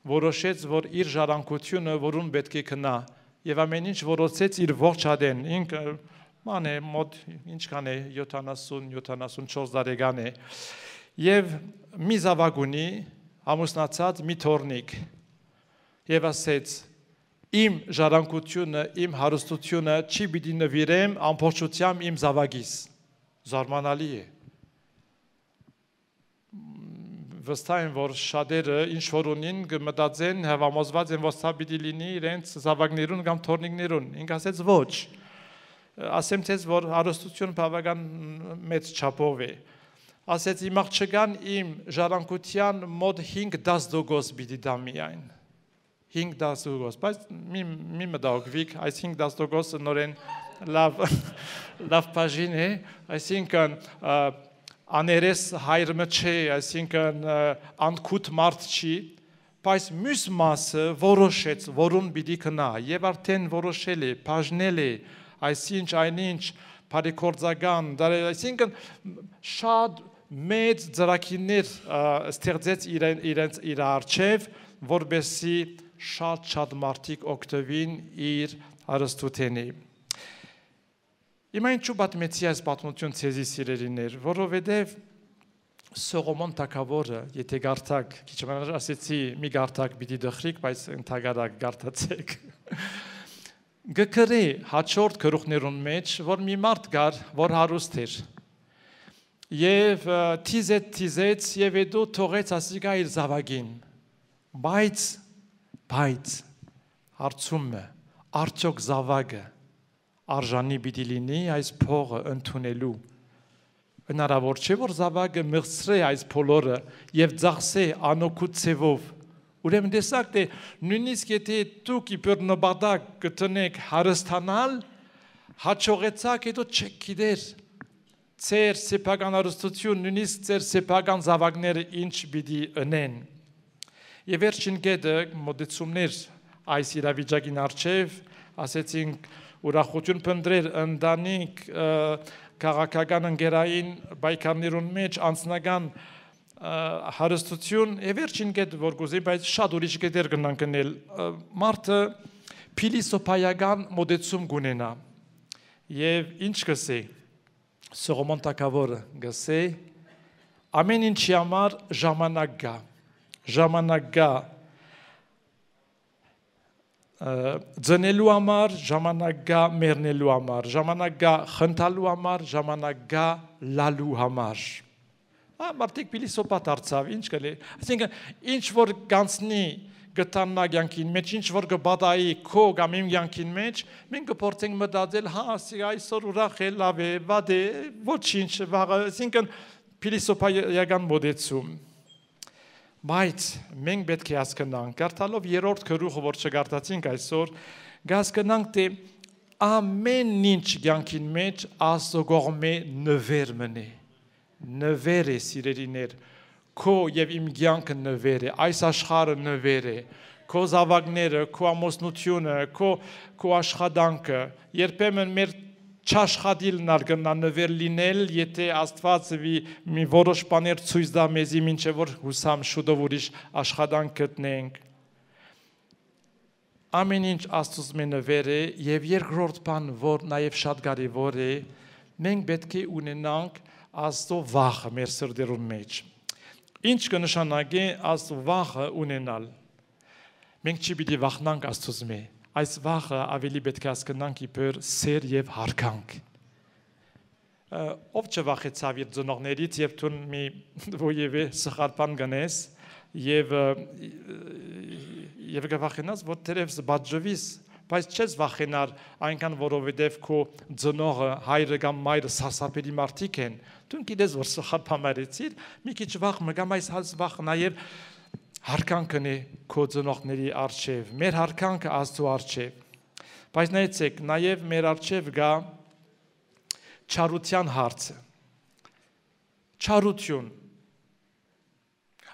որոշեց, որ իր ժառանգությունը, որուն պետք է քնա, եւ ամեն ինչ որոշեց իր ողջ ադեն։ Ինքը ման է մոտ ինչքան է 70-74 տարեկան է։ Եվ մի զավակ ունի, ամուսնացած մի թորնիկ։ Եվ ասեց, իմ ժառանգությունը, իմ հարստությունը չի պիտի նվիրեմ ամբողջությամբ իմ զավակիս։ Զարմանալի է։ Վստահ եմ, որ շատերը ինչ որ ունին կմտածեն, հավամոզված են, որ սա պիտի լինի իրենց զավակներուն կամ թորնիկներուն։ Ինք ասեց ոչ։ Ասեմ ցեզ, որ հարստությունը բավական մեծ չափով է։ Ասեց իմ աղջկան իմ ժառանգության մոտ 5-10% պիտի դա միայն։ 5-10%, բայց մի մտահոգվիկ, այս 5-10% նորեն լավ բաժին է, այսինքն աներես հայրը չէ, այսինքն անկութ մարդ չի, բայց մյուս մասը որոշեց, որուն պիտի քնա, եւ արդեն որոշել է, բաժնել է, այսինչ այնինչ բարեգործական, այսինքն շատ մեծ ծրագիրներ ստեղծեց իր առջև, որպեսզի շատ մարդիկ օգտվին իր հարստութենի։ Հիմա ինչու պատմեցի այս պատմություն ցեզի սիրելիներ, որովհետև Սողոմոն թագավորը, եթե գարտակ, քիչ մնաց ասեցի, մի գարտակ պիտի դխրիկ, բայց ընդհանրակ գարտացեք։ Գկրի հաջորդ գլուխներուն մեջ, որ մի մարդ կար, որ հարուստ էր։ Եվ թիզեց եւ հետո թողեց ասիկա իր զավակին։ Բայց հարցումը, արդյոք զավակը արժանի պիտի լինի այս փողը ընդունելու։ Հնարավոր չէ, որ զավակը մեղսրե այս բոլորը եւ ծախսե անօգուտ ցևով։ Ուրեմն տեսակ թե նույնիսկ եթե դուք իբր նպատակ գտնեք հարստանալ, հաջողեցաք հետո չեք գիտեր ձեր սեփական հարստություն, նույնիսկ ձեր սեփական զավակները ինչ պիտի ընեն։ Եվ վերջին կետը մոտեցումներ այս իրավիճակին առջև, ասեցինք ուրախություն փնտրել ընտանիք քաղաքական ընկերային պայքարներուն մեջ անձնական հարստություն եւ վերջին կետ որ գուզի բայց շատ ուրիշ կետեր կնանք գնել մարդը փիլիսոփայական մոդեցում գունենա եւ ինչ կսե Սողոմոն Թագավորը գսե ամեն ինչի համար ժամանակ գա ձնելու համար, ժամանակ գա մեռնելու համար, ժամանակ գա խնդալու համար, ժամանակ գա լալու համար։ Մարդիկ փիլիսոփա դարձավ, ինչ կլի։ Այսինքն ինչ որ կանցնի գտաննա կյանքին մեջ, ինչ որ կբադայի քո կամ իմ կյանքին մեջ, մենք կփորձենք մտածել, հա, այսօր ուրախ է, լավ է, վատ է, ոչինչ, վաղը, այսինքն փիլիսոփայական մոդեցում։ Բայց մենք պետք է հասկանանք, կարդալով երրորդ գլուխը, որ չկարդացինք այսօր, հասկանանք, թե ամեն ինչ կյանքին մեջ Աստծո կողմէ նվեր մնե։ Նվեր է, սիրելիներ, քո եւ իմ կյանքը նվեր է, այս աշխարհը նվեր է, քո զավակները, քո ամուսնությունը, քո աշխատանքը, երբեմն մեր չաշխատիլն արգնա նվեր լինել, եթե Աստված մի որոշ բաներ ցույց տա մեզի մինչև որ հուսամ շուտով ուրիշ աշխատանք գտնենք։ Ամեն ինչ Աստծուց մե նվեր է եւ երկրորդ բան, որ նաեւ շատ կարեւոր է, մենք պետք է ունենանք Աստծո վախը մեր սրտերում մեջ։ Ինչ կնշանակի Աստծո վախը ունենալ։ Մենք չի պիտի վախնանք Աստծուց մե։ Այս վախը ավելի պետք է հասկանանք իբր սեր եւ հարկանք։ Ով չվախեցավ իր ծնողներից եւ դու մի ովևէ սխալ բան գնես եւ գվախենաս որ դերևս բաժվիս, բայց չես վախենար այնքան որովհետեւ քո ծնողը հայրը կամ մայրը սասապելի մարդիկ են։ Դու գիտես որ սխալ բան արեցիր, մի քիչ վախ մը կամ այս վախ նաեւ հարկանքն է քո ծնողների առջև, մեր հարկանքը Աստծո առջև, բայց նայեցեք, նաև մեր առջև գա չարության հարցը, չարություն,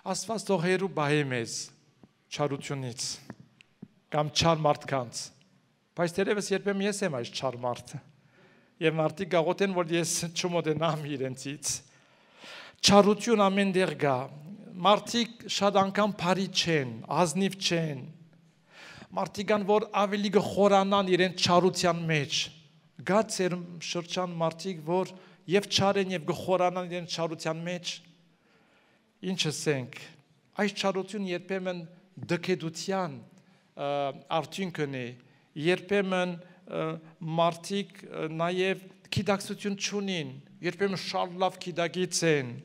Աստված թող հեռու բահե մեզ չարությունից, կամ չար մարդկանց, բայց դերևս երբեմն ես եմ այս չար մարդը, և մարդիկ գաղոթեն, որ ես չմոտենամ իրենցից, չարություն ամեն տեղ գա, մարդիկ շատ անգամ բարի չեն, ազնիվ չեն, մարդիկ կան, որ ավելի կխորանան իրենց չարության մեջ, գա ձեր շրջան մարդիկ, որ եւ չար են եւ կխորանան իրենց չարության մեջ, ինչ ասենք, այս չարություն երբեմն դքեդության արդյունքն է, երբեմն մարդիկ նաեւ գիտակցություն չունին, երբեմն շատ լավ գիտակից են,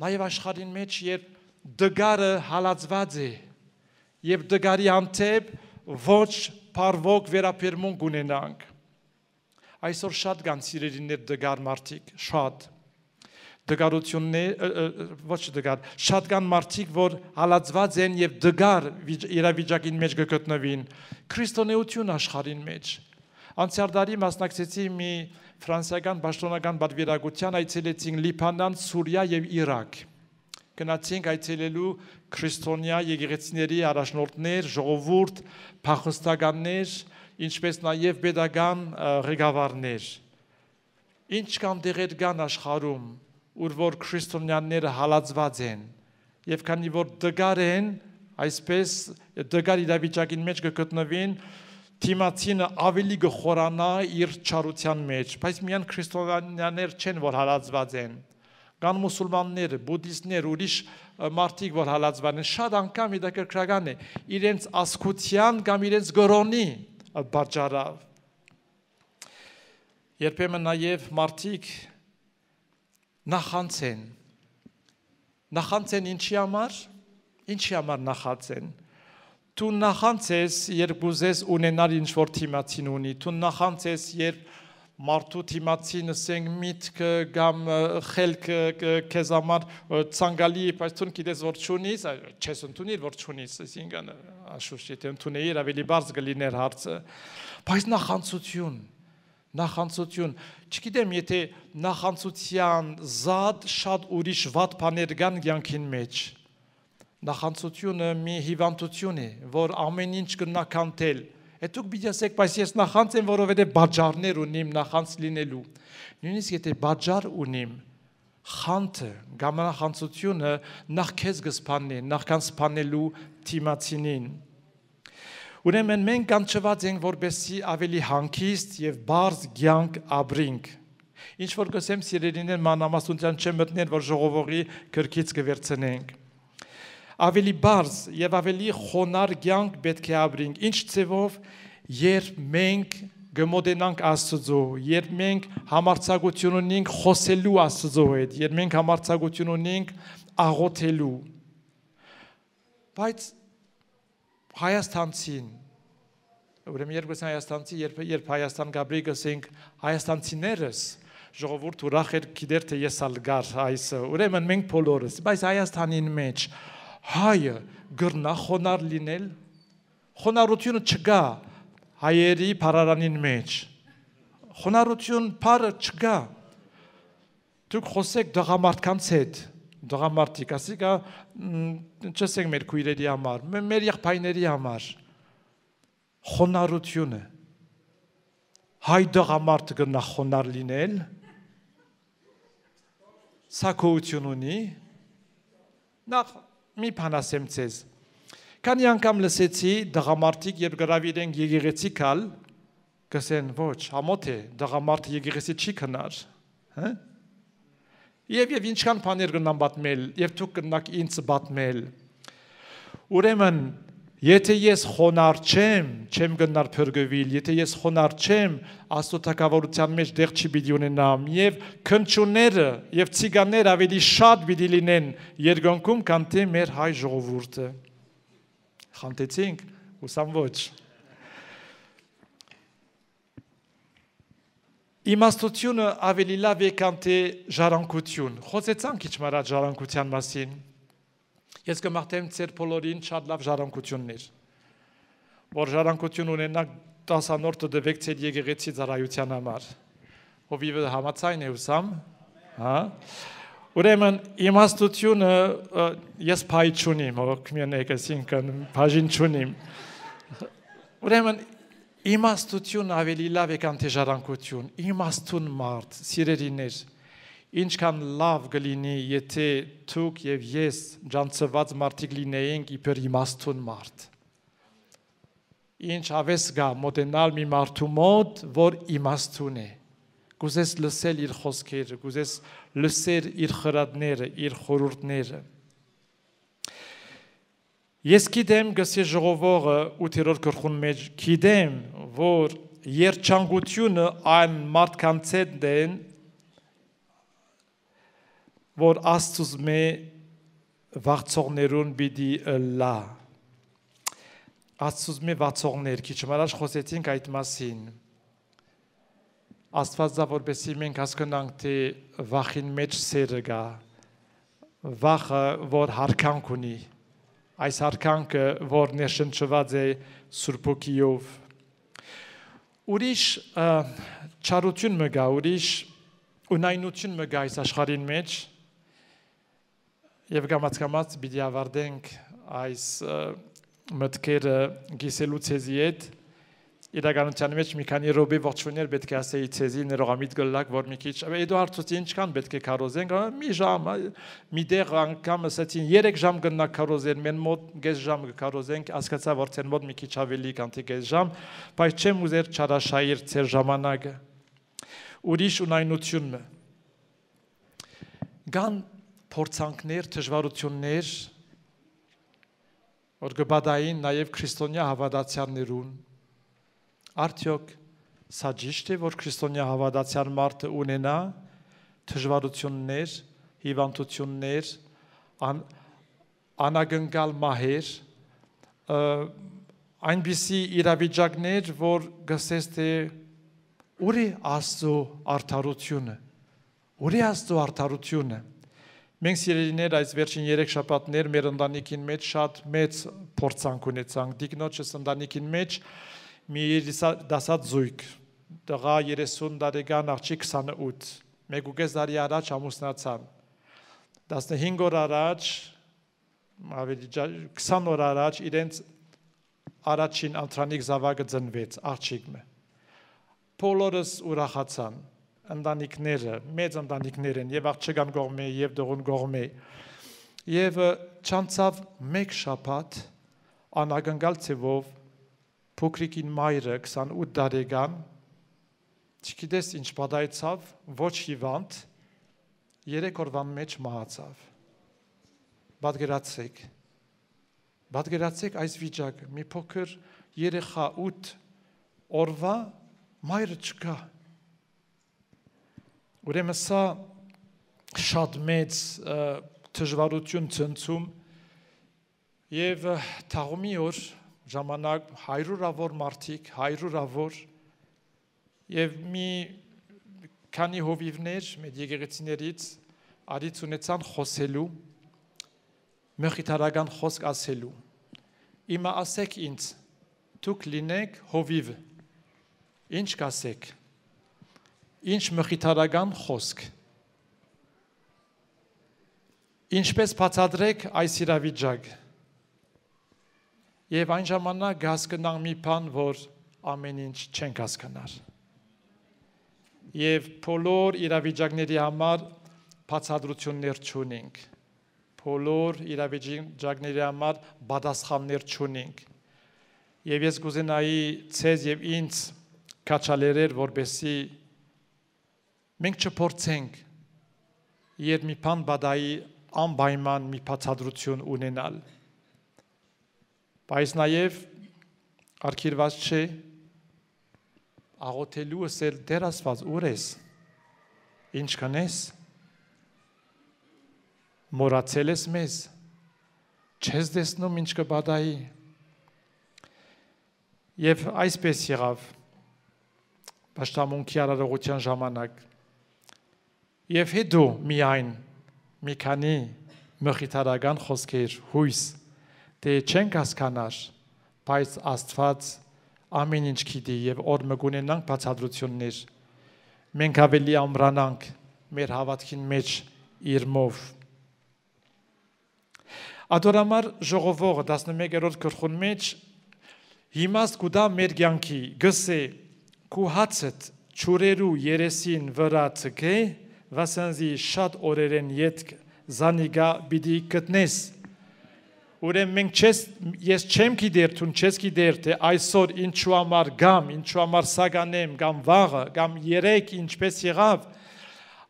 Նաև աշխարհին մեջ երբ դգարը հալածված է եւ դգարի անտեպ ոչ բարվոք վերապերմունք ունենանք այսօր շատ կան սիրելիներ դգար մարդիկ շատ դգարություններ ոչ դգար շատ կան մարդիկ որ հալածված են եւ դգար իրավիճակին մեջ կգտնվին քրիստոնեություն աշխարհին մեջ անցյալ տարի մասնակցեցի մի ֆրանսիական պաշտոնական պատվիրակության այցելեցինք Լիբանան, Սուրիա եւ Իրաք։ Գնացինք այցելելու քրիստոնյա եկեղեցիների առաջնորդներ, ժողովուրդ, փախստականներ, ինչպես նաեւ pedagogan ղեկավարներ։ Ինչ կան դեղեր կան աշխարհում, ուր որ քրիստոնյաները հալածված են, եւ քանի որ դգար են, այսպես դգար իրավիճակին մեջ կգտնվին Թիմացինը ավելի գխորանա իր չարության մեջ, բայց միայն քրիստոնյաներ չեն, որ հալածված են, կան մուսուլմաններ, բուդդիստներ, ուրիշ մարդիկ, որ հալածված են, շատ անգամ հետաքրքրական է, իրենց ազգության կամ իրենց գրոնի պատճառով։ Երբեմն նաև մարդիկ նախանց են ինչի համար նախանց են, Դու նախանցես, երբ գուզես ունենալ ինչ-որ թիմացին ունի, դու նախանցես, երբ մարդու թիմացին ասենք միտքը կամ խելքը քեզ համար ցանկալի է, բայց դու գիտես որ չունիս, չես ընդունիր որ չունիս, այսինքն աշուշ եթե ընդունեիր ավելի բարձ կլիներ հարցը, բայց նախանցություն, չգիտեմ եթե նախանցության զատ շատ ուրիշ վատ բաներ կան կյանքին մեջ, նախանցությունը մի հիվանդություն է, որ ամեն ինչ կնականտել, Դուք պիտի ասեք, բայց ես նախանց եմ, որովհետև բաժարներ ունիմ նախանց լինելու։ Նույնիսկ եթե բաժար ունիմ, խանթը, գամանախանցությունը նախ քեզ կսփաննի, նախքան սփանելու թիմացինին։ Ուրեմն մենք կանչված ենք, որպեսզի ավելի հանգիստ եւ բարձ կյանք ապրենք։ Ինչ որ գսեմ սիրելիներ մանրամասնության չեմ մտնել, որ ժողովողի քրքից կվերցնենք։ Ավելի բարձ եւ ավելի խոնար կյանք պետք է ապրենք։ Ինչ ձևով, երբ մենք գմոդենանք Աստծո, երբ մենք համարձակություն ունենք խոսելու Աստծո հետ, երբ մենք համարձակություն ունենք աղոթելու։ Բայց Հայաստանցին, ուրեմն երբ գսեն Հայաստանցի, երբ Հայաստան գաբրի գսենք հայաստանցիներս, ժողովուրդ ուրախ էր գիտեր թե ես ալ գար այսը, ուրեմն մենք բոլորս, բայց Հայաստանին մեջ հայը գրնա խոնար լինել, խոնարհությունը չկա հայերի փարարանին մեջ, խոնարհություն փարը չկա, դուք խոսեք դղամարդկանց հետ, դղամարդիկ, ասիկա չսենք մեր քույրերի համար, մեր եղբայրների համար, խոնարհությունը, հայ դղամարդը գրնա խոնար լինել, սակոություն ունի, նախ մի բան ասեմ ձեզ, քանի անգամ լսեցի դղամարդիկ, երբ գրավիրենք եկեղեցի կալ, կսեն ոչ, համոթ է, դղամարդը եկեղեցի չի քնար, եւ ինչքան բաներ կնան պատմել, եւ դուք կնաք ինձ պատմել, ուրեմն, եթե ես խոնար չեմ գնար փրկվել, եթե ես խոնար չեմ, Աստծո թագավորության մեջ դեղ չի պիտի ունենամ, եւ քնչուները եւ ցիգանները ավելի շատ պիտի լինեն երկնքում, քան թե մեր հայ ժողովուրդը։ Խանդեցինք, ուսամ ոչ։ Իմաստությունը ավելի լավ է, քան թե ժառանգություն։ Խոսեցանք քիչ մարդ ժառանգության մասին։ Ես կմաղթեմ ձեր բոլորին շատ լավ ժառանգություններ, որ ժառանգություն ունենաք 10-րդ դվեք ձեր եկեղեցի ծառայության համար, հովիվը համաձայն է ուսամ, ուրեմն իմաստությունը ես փայ չունիմ, հոգմենեք այսինքն բաժին չունիմ, ուրեմն իմաստություն ավելի լավ է քան թե ժառանգություն, իմաստուն մարդ, սիրելիներ, ինչքան լավ կլինի, եթե դուք եւ ես ջանցված մարդիկ լինեինք իբր իմաստուն մարդ։ Ինչ ավես գա մոտենալ մի մարդու մոտ, որ իմաստուն է։ Կուզես լսել իր խոսքերը, կուզես լսել իր խրատները, իր խորհուրդները։ Ես գիտեմ, գսի ժողովողը 8-րդ գլխուն մեջ գիտեմ, որ երջանկությունը այն մարդկանց հետ են, որ Աստծուց մե վաղցողներուն պիտի լա։ Աստծուց մե վաղցողներ, քիչ առաջ խոսեցինք այդ մասին։ Աստվածա որպեսզի մենք հասկանանք, թե վախին մեջ սերը կա, վախը, որ հարկանք ունի, այս հարկանքը, որ ներշնչված է Սուրբ Հոգիով։ Ուրիշ չարություն մը գա, ուրիշ ունայնություն մը գա այս աշխարհին մեջ, եւ կամաց պիտի ավարտենք այս մտքերը գիսելու ցեզի հետ, իրականության մեջ մի քանի րոպե ողջունել պետք է ասեի ցեզի ներողամիտ գլակ, որ մի քիչ, Էդուարդ ցույց ինչքան պետք է կարոզենք, մի ժամ, մի դեղ անգամ ասացին 3 ժամ գնա կարոզեն, մեն մոտ գես ժամ կարոզենք, հասկացա որ ցեն մոտ մի քիչ ավելի քան թե գես ժամ, բայց չեմ ուզեր չարաշայիր ցեր ժամանակը։ Ուրիշ ունայնությունը։ Գան փորձանքներ, դժվարություններ, որ գբադային նաև քրիստոնյա հավատացյալներուն, արդյոք սա ճիշտ է, որ քրիստոնյա հավատացյալ մարդը ունենա դժվարություններ, հիվանդություններ, անագնկալ մահեր, այնպիսի իրավիճակներ, որ գսես թե ուր է Աստծո արդարությունը, ուր է Աստծո արդարությունը։ Մենք սիրելիներ այս վերջին 3 շաբաթներ մեր ընտանիքին մեջ շատ մեծ փորձանք ունեցանք։ Դիկնոջս ընտանիքին մեջ մի դասած զույգ, տղա 30 տարեկան, աղջիկ 28, 1.5 տարի առաջ ամուսնացան։ 15 օր առաջ, ավելի 20 օր առաջ իրենց առաջին ընտրանիք զավակը ծնվեց, աղջիկը։ Բոլորս ուրախացան, ընտանիքները, մեծ ընտանիքներ են, եւ աղջկան կողմէ, եւ դողուն կողմէ։ Եվ չանցավ մեկ շաբաթ անագնկալ ցևով փոքրիկին մայրը 28 տարեկան, չգիտես ինչ պատահեցավ, ոչ հիվանդ, 3 օրվան մեջ մահացավ։ Պատկերացեք այս վիճակը, մի փոքր երեխա 8 օրվա մայրը չկա։ Ուրեմն սա շատ մեծ դժվարություն ցնցում եւ թաղումի օր ժամանակ 100-ավոր մարդիկ, 100-ավոր եւ մի քանի հովիվներ մեր եկեղեցիներից արից ունեցան խոսելու, մխիթարական խոսք ասելու։ Իմա ասեք ինձ, դուք լինեք հովիվ, ինչ կասեք, ինչ մխիթարական խոսք, ինչպես բացատրեք այս իրավիճակը։ Եվ այն ժամանակ կհասկանանք մի բան, որ ամեն ինչ չենք հասկանար։ Եվ բոլոր իրավիճակների համար բացատրություններ չունենք, բոլոր իրավիճակների համար պատասխաններ չունենք։ Եվ ես կուզենայի ցեզ եւ ինձ քաչալերել, որպեսզի մենք չփորձենք երբ մի բան բադայի անպայման մի բացատրություն ունենալ։ Բայց նաև արգելված չէ աղոթելու ասել Տեր Աստված ուր ես, ինչ կանես, մոռացել ես մեզ, չես տեսնում ինչ կբադայի։ Եվ այսպես եղավ պաշտամունքի արարողության ժամանակ։ Եվ հետո միայն մի քանի մխիթարական խոսքեր հույս, թե չենք հասկանար, բայց Աստված ամեն ինչ գիտի եւ օր մգունենանք բացատրություններ։ Մենք ավելի ամրանանք մեր հավատքին մեջ իրմով։ Ադորամար ժողովողը 11-րդ գլխուն մեջ հիմաստ կուտա մեր կյանքի գսե քու հացդ ճուրերու երեսին վրա ցկե վասանզի շատ օրերեն յետք զանիգա բիդի գտնես։ Ուրեմն մենք ես չեմ գիտեր, դու չես գիտեր, թե այսօր ինչու համար գամ, ինչու համար սագանեմ, կամ վաղը, կամ երեք ինչպես եղավ,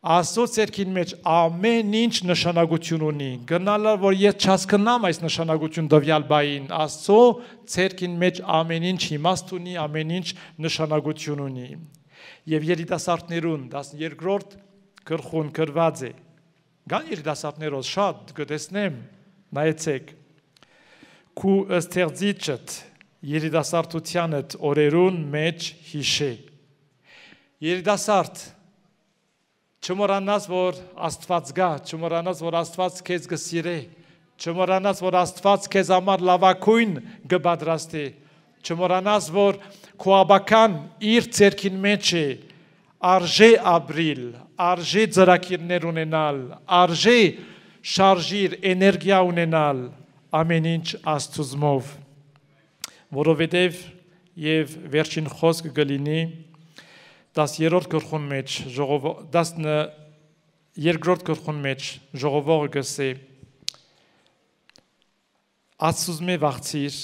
Աստծո ցերքին մեջ ամեն ինչ նշանակություն ունի։ Գնալը որ ես չհասկանամ այս նշանակություն տվյալ բային, Աստծո ցերքին մեջ ամեն ինչ իմաստ ունի, ամեն ինչ նշանակություն ունի։ Եվ երիտասարդներուն 12-րդ գլխուն գրված է։ Գան երիտասարդներով շատ կտեսնեմ, նայեցեք։ Քու ըստեղծիչդ երիտասարդությանդ օրերուն մեջ հիշե։ Երիտասարդ չմոռանաս, որ Աստված գա, չմոռանաս, որ Աստված քեզ կսիրե, չմոռանաս, որ Աստված քեզ համար լավագույն կպատրաստի, չմոռանաս, որ քո աբական իր ցերքին մեջ է, արժե ապրիլ, արժե ծրագիրներ ունենալ, արժե շարժիր էներգիա ունենալ, ամեն ինչ Աստծուով, որովհետև եւ վերջին խոսքը կլինի 10-րդ գլխուն մեջ, 12-րդ գլխուն մեջ ժողովողը գսե Աստծուզմե վախցիր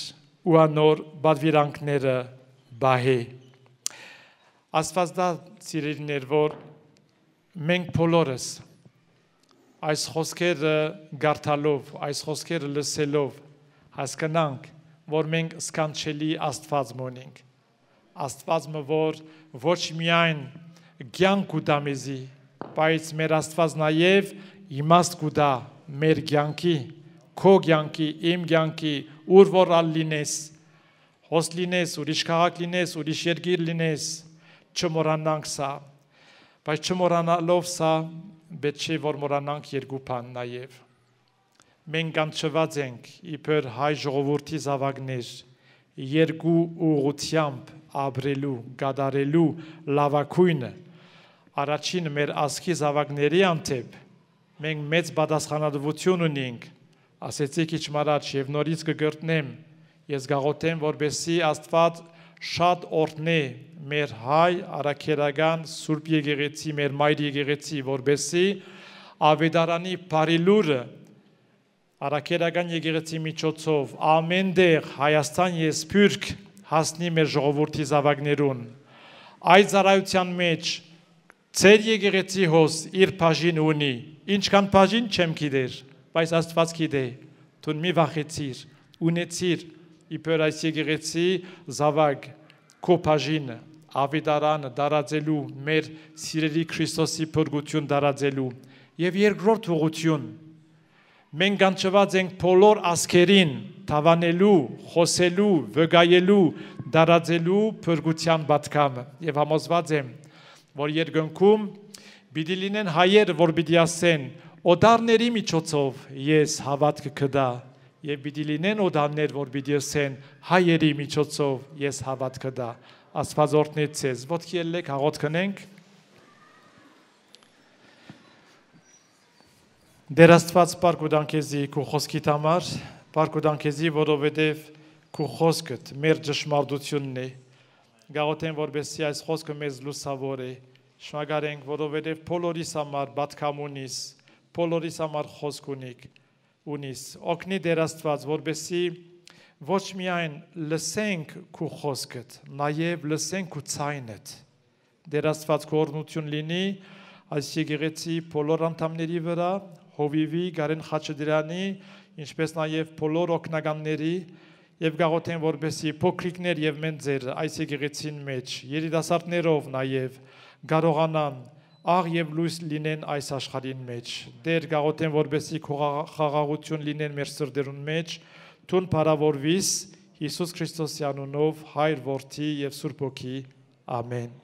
ու անոր բադվիրանքները բահե։ Աստված դա սիրելիներ, որ մենք բոլորս այս խոսքերը գարտալով, այս խոսքերը լսելով հասկանանք, որ մենք սքանչելի Աստված մոնենք։ Աստվածը, որ ոչ միայն կյանք կուտա մեզի, բայց մեր Աստված նաև իմաստ կուտա մեր կյանքի, քո կյանքի, իմ կյանքի, ուր որ լինես, հոս լինես, ուրիշ քաղաք լինես, ուրիշ երկիր լինես, չմոռանանք սա, բայց չմոռանալով սա, պետք չէ որ մոռանանք երկու բան նաև։ Մենք կանչված ենք իբր հայ ժողովրդի զավակներ երկու ուղղությամբ ապրելու, կատարելու լավագույնը առաջին մեր ազգի զավակների անտեպ մենք մեծ պատասխանատվություն ունենք, ասեցի քիչ առաջ եւ նորից կգրտնեմ, ես գաղութեմ, որպեսզի Աստված շատ օրհնե մեր հայ առաքելական Սուրբ Եկեղեցի, մեր մայր եկեղեցի, որպեսզի ավետարանի բարի լուրը առաքելական եկեղեցի միջոցով ամեն տեղ Հայաստան եւ Սփյուռք հասնի մեր ժողովրդի զավակներուն։ Այդ ծառայության մեջ Ձեր եկեղեցի հոս իր բաժին ունի, ինչքան բաժին չեմ գիտեր, բայց Աստված գիտե, դու մի վախեցիր, ունեցիր իբր այս եկեղեցի զավակ քո բաժինը, ավետարանը դարաձելու, մեր սիրելի Քրիստոսի փրկություն դարաձելու եւ երկրորդ ուղղություն մենք կանչված ենք բոլոր ազգերին թավանելու, խոսելու, վկայելու, դարաձելու փրկության պատգամը եւ համոզված եմ որ երկնքում պիտի լինեն հայերը, որ պիտի ասեն, օդարների միջոցով ես հավատք կդա, եւ պիտի լինեն օդարներ, որ պիտի ասեն, հայերի միջոցով ես հավատք կդա։ Աստված օրհնի ձեզ։ Ոտքի ելեք, աղոթք քնենք։ Դեր Աստված բարք ու դանքեզի քո խոսքիդ համար, բարք ու դանքեզի, որովհետեւ քո խոսքդ մեր ճշմարտությունն է։ Գաղութեմ, որպեսզի այս խոսքը մեզ լուսավոր է, շնորհակալ որովհետև բոլորիս համար պատգամ ունիս, բոլորիս համար խոսք ունիս, օգնի Տեր Աստված, որպեսզի ոչ միայն լսենք քո խոսքդ, նաև լսենք քո ձայնդ։ Տեր Աստված քո օրհնություն լինի այս եկեղեցի բոլոր անդամների վրա, Հովիվի, Գարեն Խաչատրյանի, ինչպես նաև բոլոր օգնականների Եվ գաղութեն, որպեսզի փոքրիկներ եւ մենք ձեր այս եկեղեցին մեջ երիտասարդներով նաև կարողանան աղ եւ լույս լինեն այս աշխարհին մեջ։ Դեր գաղութեն, որպեսզի խաղաղություն լինեն մեր սրտերուն մեջ, թուն փառավորվիս Հիսուս Քրիստոսի անունով, Հայր, Որդի եւ Սուրբ Հոգի։ Ամեն։